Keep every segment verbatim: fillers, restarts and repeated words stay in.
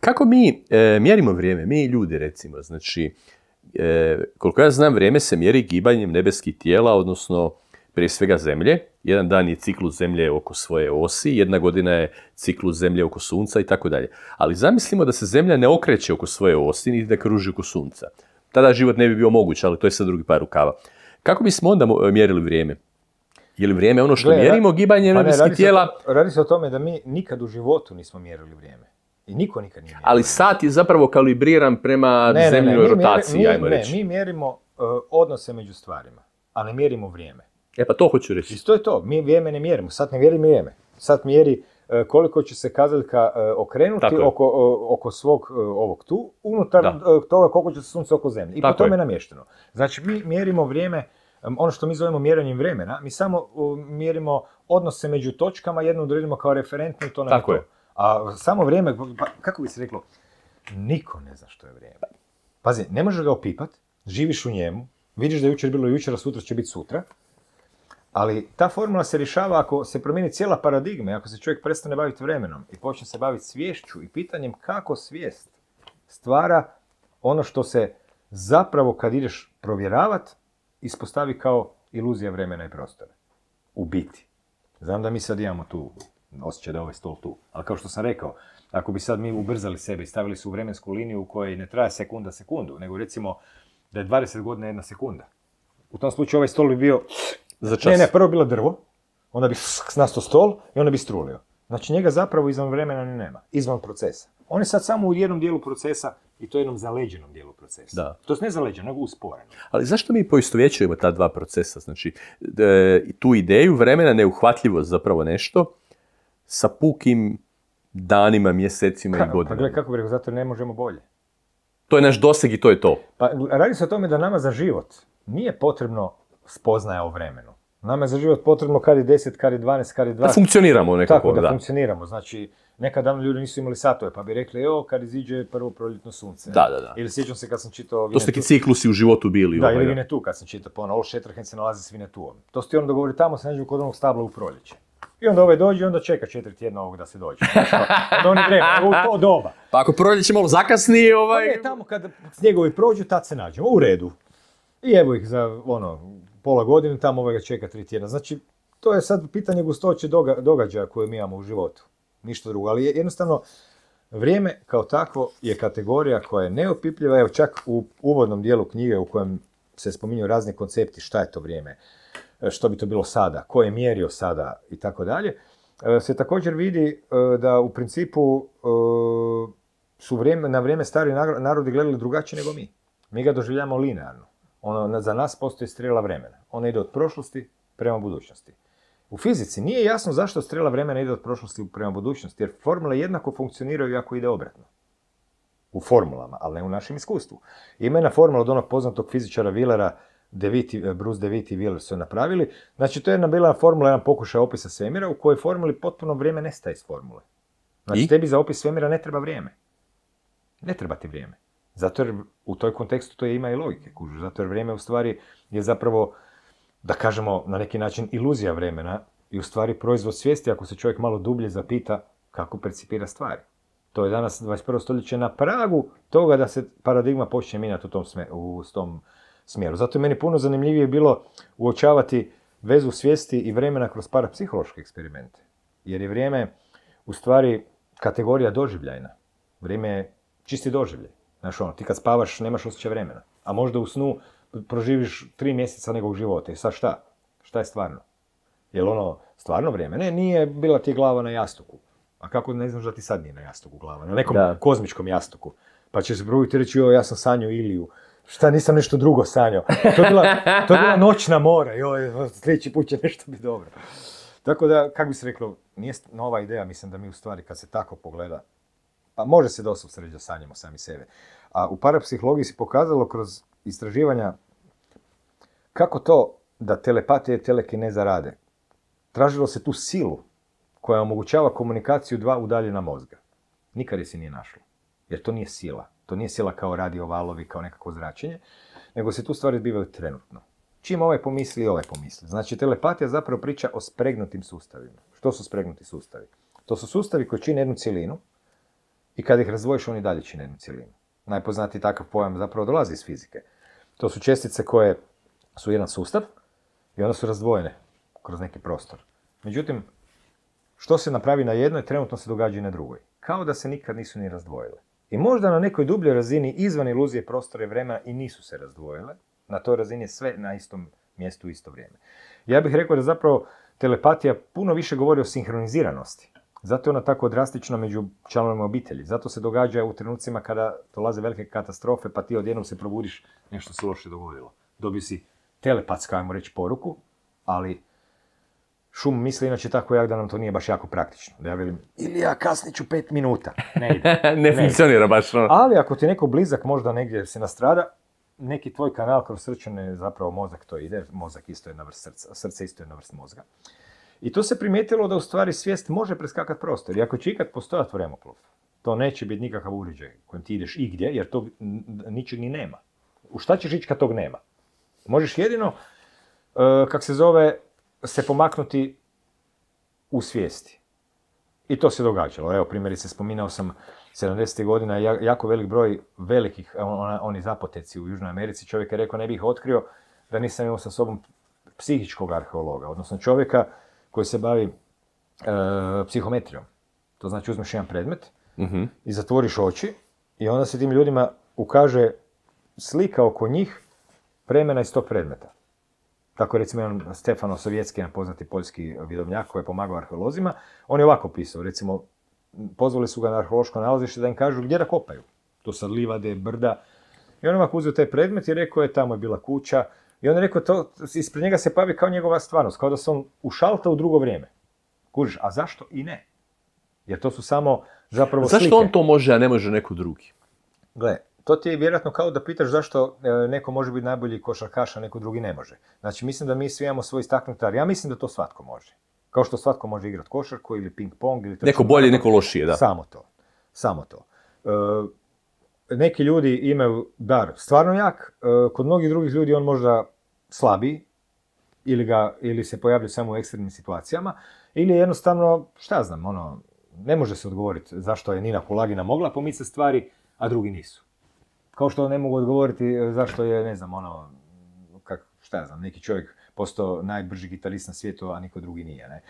kako mi e, mjerimo vrijeme, mi ljudi recimo, znači, e, koliko ja znam, vrijeme se mjeri gibanjem nebeskih tijela, odnosno prije svega zemlje. Jedan dan je ciklus zemlje oko svoje osi, jedna godina je ciklus zemlje oko sunca i tako dalje. Ali zamislimo da se zemlja ne okreće oko svoje osi, niti da kruži oko sunca. Tada život ne bi bio moguć, ali to je sad drugi par rukava. Kako bismo onda mjerili vrijeme? Je li vrijeme ono što Gle, mjerimo gibanjem pa nebeskih tijela? Se, radi se o tome da mi nikad u životu nismo mjerili vrijeme. I niko nikad nije mjerio. Ali sat je zapravo kalibriran prema ne, zemljoj rotaciji, mi, ajmo ne, reći. Mi mjerimo uh, odnose među stvarima, a ne mjerimo vrijeme. E pa to hoću reći. I to je to, mi vrijeme ne mjerimo, sat ne mjeri vrijeme. Sat mjeri uh, koliko će se kazaljka uh, okrenuti oko, uh, oko svog uh, ovog tu, unutar uh, toga koliko će se sunce oko zemlje. I Tako po tome je namješteno. Znači mi mjerimo vrijeme, um, ono što mi zovemo mjerenjem vremena, mi samo uh, mjerimo odnose među točkama, jednu odredimo kao referentnu i to nam Tako je to. Je. A samo vrijeme, pa, kako bi se reklo, niko ne zna što je vrijeme. Pazi, ne možeš ga opipat, živiš u njemu, vidiš da je jučer bilo jučer, a sutra će biti sutra, ali ta formula se rješava ako se promijeni cijela paradigma, ako se čovjek prestane baviti vremenom i počne se baviti sviješću i pitanjem kako svijest stvara ono što se zapravo kad ideš provjeravat, ispostavi kao iluzija vremena i prostora. U biti. Znam da mi sad imamo tu osjećaj da je ovaj stol tu. Ali kao što sam rekao, ako bi sad mi ubrzali sebe i stavili se u vremensku liniju u kojoj ne traje sekunda sekundu, nego recimo da je dvadeset godina jedna sekunda. U tom slučaju ovaj stol bi bio... Za čas. Ne, ne, prvo bilo drvo, onda bi nastao stol i onda bi strulio. Znači njega zapravo izvan vremena ni nema, izvan procesa. On je sad samo u jednom dijelu procesa i to jednom zaleđenom dijelu procesa. Da. To je ne zaleđeno, nego usporeno. Ali zašto mi poistovjećujemo ta dva procesa? Znači, e, tu ideju vremena, neuhvatljivost zapravo nešto, sa pukim danima, mjesecima Ka, i godinama. Pa gledaj, kako bi rekao, zato ne možemo bolje. To je naš doseg i to je to. Pa radi se o tome da nama za život nije potrebno spoznaja o vremenu. Nama je za život potrebno kad je deset, kad je dvanaest, kad je dvadeset. Da funkcioniramo nekako. Tako, da, da funkcioniramo. Znači, nekad davno ljudi nisu imali satove, pa bi rekli, evo, kad iziđe prvo proljetno sunce. Da, da, da. Ili sjećam se kad sam čitao Vinetu. To su neki ciklusi u životu bili. Da, ovaj, ili Vinetu kad sam čitao, pa ono, Old Shatterhand se nalazi s Vinetuom. To su ti ono dogovori, tamo se nađu kod onog stabla u proljeće. I onda ovaj dođe i onda čeka četiri tjedna ovog da se dođe. Onda oni vremena, u to doba. Pa ako proljeće malo zakasni, ovaj... Pa ne, tamo kad snjegovi prođu, tad se nađemo, u redu. I evo ih za, ono, pola godine, tamo ovaj ga čeka tri tjedna. Znači, to je sad pitanje gustoće doga, događaja koje mi imamo u životu. Ništa drugo, ali jednostavno, vrijeme kao takvo je kategorija koja je neopipljiva. Evo čak u uvodnom dijelu knjige u kojem se spominju razni koncepti, šta je to vrijeme, što bi to bilo sada, ko je mjerio sada i tako dalje, se također vidi da u principu su vrijeme, na vrijeme stari narodi gledali drugačije nego mi. Mi ga doživljamo linearno. Ono, za nas postoji strela vremena. Ona ide od prošlosti prema budućnosti. U fizici nije jasno zašto strela vremena ide od prošlosti prema budućnosti, jer formule jednako funkcioniraju ako ide obratno. U formulama, ali ne u našem iskustvu. Ima jedna formula od onog poznatog fizičara Willera, DeWitt, Bruce DeWitt i Wheeler su napravili. Znači, to je jedna bila formula, jedan pokušaj opisa svemira u kojoj formuli potpuno vrijeme nestaje iz formule. Znači, I? tebi za opis svemira ne treba vrijeme. Ne treba ti vrijeme. Zato jer u toj kontekstu to ima i logike, kužu. Zato jer vrijeme u stvari je zapravo, da kažemo, na neki način iluzija vremena i u stvari proizvod svijesti ako se čovjek malo dublje zapita kako percipira stvari. To je danas dvadeset prvo stoljeće na pragu toga da se paradigma počne mijenjati u tom, sme, u tom smjeru. Zato je meni puno zanimljivije bilo uočavati vezu svijesti i vremena kroz parapsihološke eksperimente. Jer je vrijeme u stvari kategorija doživljajna. Vrijeme je čisti doživljaj. Znaš ono, ti kad spavaš nemaš osjećaj vremena. A možda u snu proživiš tri mjeseca nekog života. I sad šta? Šta je stvarno? Je li ono stvarno vrijeme? Ne, nije bila ti glava na jastuku. A kako ne znaš da ti sad nije na jastuku glava? Na nekom da. kozmičkom jastuku. Pa će se probiti reći, joj, ja sam sanjao Iliju. Šta, nisam nešto drugo sanjao. To je bila, to je bila noćna mora. Joj, sljedeći put će nešto biti dobro. Tako da, kako bi se reklo, nije nova ideja, mislim da mi u stvari kad se tako pogleda, pa može se doslovno sreći da sanjamo sami sebe. A u parapsihologiji se pokazalo kroz istraživanja kako to da telepatija i telekineza rade. Tražilo se tu silu koja omogućava komunikaciju dva udaljena mozga. Nikad je se nije našlo. Jer to nije sila. To nije sila kao radio valovi, kao nekako zračenje, nego se tu stvari zbivaju trenutno. Čim ovaj pomisli, ovaj pomisli. Znači, telepatija zapravo priča o spregnutim sustavima. Što su spregnuti sustavi? To su sustavi koji čine jednu cjelinu i kad ih razdvojiš, oni dalje čine jednu cjelinu. Najpoznatiji takav pojam zapravo dolazi iz fizike. To su čestice koje su jedan sustav i onda su razdvojene kroz neki prostor. Međutim, što se napravi na jednoj, trenutno se događa i na drugoj. Kao da se nikad nisu ni razdvojile. I možda na nekoj dubljoj razini izvan iluzije prostora i vremena i nisu se razdvojile. Na toj razini je sve na istom mjestu u isto vrijeme. Ja bih rekao da zapravo telepatija puno više govori o sinhroniziranosti. Zato je ona tako drastična među članovima obitelji. Zato se događa u trenucima kada dolaze velike katastrofe, pa ti odjednom se probudiš, nešto se loše dogodilo. Dobio si telepatska, ajmo reći, poruku, ali šum misli inače tako jak da nam to nije baš jako praktično. Da ja velim, ili ja kasnit ću pet minuta. Ne ide. ne, ne funkcionira baš. No. Ali ako ti neko blizak možda negdje se nastrada, neki tvoj kanal kroz srčane, zapravo mozak to ide, mozak isto je na vrst srca, srce isto je na vrst mozga. I tu se primijetilo da u stvari svijest može preskakati prostor. I ako će ikad postojati vremeplov, to neće biti nikakav uređaj kojim ti ideš igdje, jer tog ničeg ni nema. U šta ćeš ići kad tog nema? Možeš jedino, uh, kak se zove, se pomaknuti u svijesti. I to se događalo. Evo, primjerice, spominao sam sedamdesetih godina jako velik broj velikih, on, oni zapoteci u Južnoj Americi. Čovjek je rekao, ne bih ih otkrio da nisam imao sa sobom psihičkog arheologa, odnosno čovjeka koji se bavi e, psihometrijom. To znači uzmeš jedan predmet mm-hmm. i zatvoriš oči i onda se tim ljudima ukaže slika oko njih vremena iz tog predmeta. Tako recimo jedan Stefano Sovjetski, jedan poznati poljski vidovnjak koji je pomagao arheolozima, on je ovako pisao, recimo, pozvali su ga na arheološko nalazište da im kažu gdje da kopaju. To sad livade, brda. I on ovako uzeo taj predmet i rekao je, tamo je bila kuća. I on je rekao, to, ispred njega se pavi kao njegova stvarnost, kao da se on ušalta u drugo vrijeme. Kužiš, a zašto i ne? Jer to su samo zapravo zašto slike. Zašto on to može, a ne može neko drugi? Gle, to ti je vjerojatno kao da pitaš zašto neko može biti najbolji košarkaš, a neko drugi ne može. Znači, mislim da mi svi imamo svoj istaknutar. Ja mislim da to svatko može. Kao što svatko može igrati košarku ili ping-pong. Ili neko bolje, neko lošije, da. Samo to. Samo to. E, neki ljudi imaju dar stvarno jak, e, kod mnogih drugih ljudi on možda slabiji, ili, ga, ili se pojavlja samo u ekstremnim situacijama, ili jednostavno, šta znam, ono, ne može se odgovoriti zašto je Nina Kulagina mogla pomicati stvari, a drugi nisu. Kao što ne mogu odgovoriti zašto je, ne znam, ono, kak, šta ja znam, neki čovjek postao najbrži gitarist na svijetu, a niko drugi nije, ne.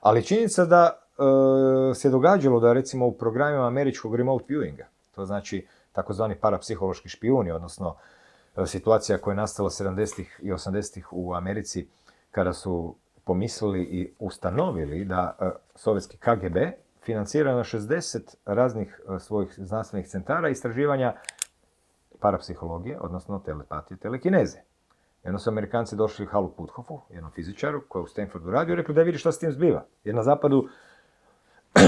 Ali činjenica da e, se događalo da recimo u programima američkog remote viewinga, to znači takozvani parapsihološki špijuni, odnosno e, situacija koja je nastala sedamdesetih i osamdesetih u Americi, kada su pomislili i ustanovili da e, sovjetski K G B financira na šezdeset raznih e, svojih znanstvenih centara istraživanja parapsihologije, odnosno telepatije, telekineze. Jedno su Amerikanci došli Halu Puthofu, jednom fizičaru, koji je u Stanfordu radio, i rekli da vidi šta s tim zbiva. Jer na zapadu,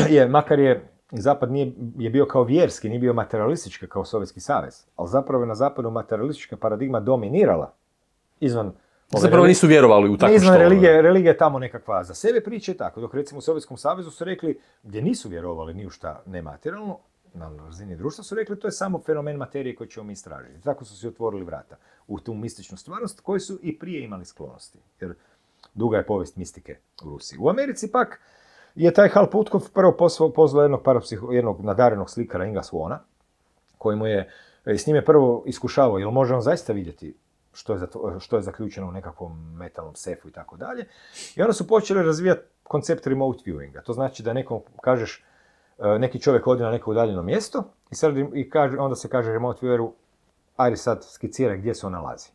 je, makar je zapad nije, je bio kao vjerski, nije bio materialistički kao Sovjetski savez, ali zapravo je na zapadu materialistička paradigma dominirala izvan... Zapravo nisu vjerovali u tako izvan što... religije, religija je tamo nekakva za sebe priče, tako. Dok recimo u Sovjetskom savezu su rekli, gdje nisu vjerovali ni u šta nematerijalno, na razini društva su rekli to je samo fenomen materije koji ćemo mi istražiti. Tako su se otvorili vrata u tu mističnu stvarnost koji su i prije imali sklonosti. Jer duga je povijest mistike u Rusiji. U Americi pak je taj Hal Puthoff prvo pozvao jednog, parapsiho, jednog nadarenog slikara Inga Swona, koji mu je, s njim je prvo iskušavao, jel može on zaista vidjeti što je, zato, što je zaključeno u nekakvom metalnom sefu i tako dalje. I onda su počeli razvijati koncept remote viewinga. To znači da nekom kažeš, neki čovjek odi na neko udaljeno mjesto i, sad, i kaže, onda se kaže remote vieweru, ajde sad skiciraj gdje se on nalazi.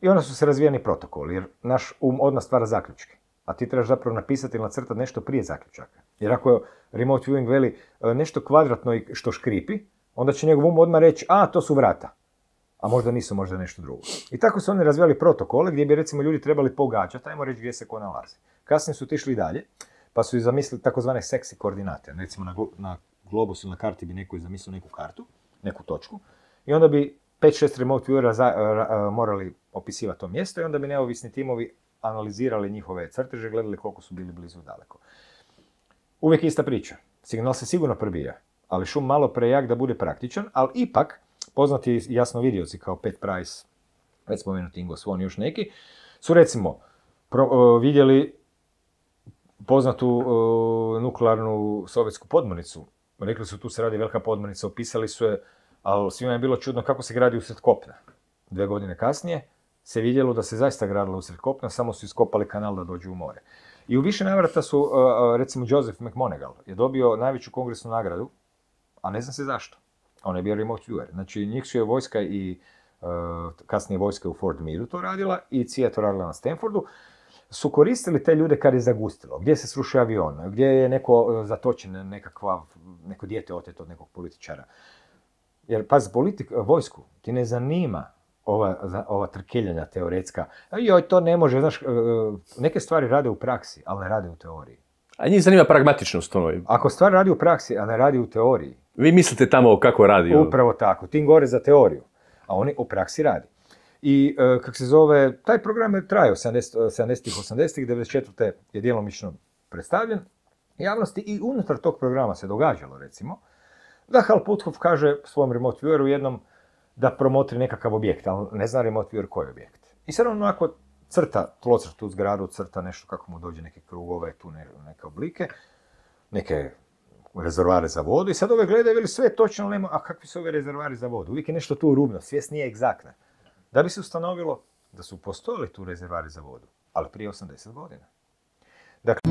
I onda su se razvijani protokoli, jer naš um odmah stvara zaključke. A ti trebaš zapravo napisati ili nacrtati nešto prije zaključaka. Jer ako je remote viewing veli nešto kvadratno i što škripi, onda će njegov um odmah reći, a to su vrata. A možda nisu, možda nešto drugo. I tako su oni razvijali protokole gdje bi recimo ljudi trebali pogađati, ajmo reći gdje se ko nalazi. Kasnije su otišli dalje, pa su i zamislili takozvane seksi koordinate. Recimo na, na globusu, na karti bi neko zamislio neku kartu, neku točku, i onda bi pet šest remote viewera za, ra, morali opisivati to mjesto i onda bi neovisni timovi analizirali njihove crteže, gledali koliko su bili blizu daleko. Uvijek ista priča. Signal se sigurno probija, ali šum malo prejak da bude praktičan, ali ipak poznati jasnovidioci kao Pat Price, već spomenuti Ingo Swan i još neki, su recimo pro, uh, vidjeli poznatu uh, nuklearnu sovjetsku podmornicu rekli su tu se radi velika podmornica, opisali su je, ali svima je bilo čudno kako se gradi usred kopna. Dve godine kasnije se vidjelo da se zaista gradilo usred kopna, samo su iskopali kanal da dođu u more. I u više navrata su, recimo Joseph McMoneagle je dobio najveću kongresnu nagradu, a ne zna se zašto. On je bio remote viewer. Znači, njih su je vojska i kasnije vojska u Fort Meade to radila i C I A to radila na Stanfordu, su koristili te ljude kad je zagustilo. Gdje se srušio avion, gdje je neko zatočen, nekakva, neko dijete oteto od nekog političara. Jer, pazi, politik, vojsku ti ne zanima ova, ova trkeljanja teoretska. Joj, to ne može, znaš, neke stvari rade u praksi, ali ne rade u teoriji. A njih zanima pragmatičnost ono. Ako stvar radi u praksi, a ne radi u teoriji. Vi mislite tamo kako radi? Upravo tako, tim gore za teoriju, a oni u praksi radi. I, e, kako se zove, taj program je trajao sedamdesetih, osamdesetih, devedeset četvrte je djelomično predstavljen javnosti i unutar tog programa se događalo, recimo, da Hal Puthoff kaže svom remote vieweru jednom da promotri nekakav objekt, ali ne zna remote viewer koji objekt. I sad on onako crta, tlocrta u zgradu, crta nešto kako mu dođe neke krugove, tu ne, neke oblike, neke rezervoare za vodu i sad ove gledaju, veli sve točno, ali nema, a kakvi su ove rezervoari za vodu? Uvijek je nešto tu rubno, svijest nije egzaktna. Da bi se ustanovilo da su postojali tu rezervari za vodu, ali prije osamdeset godina. Dakle,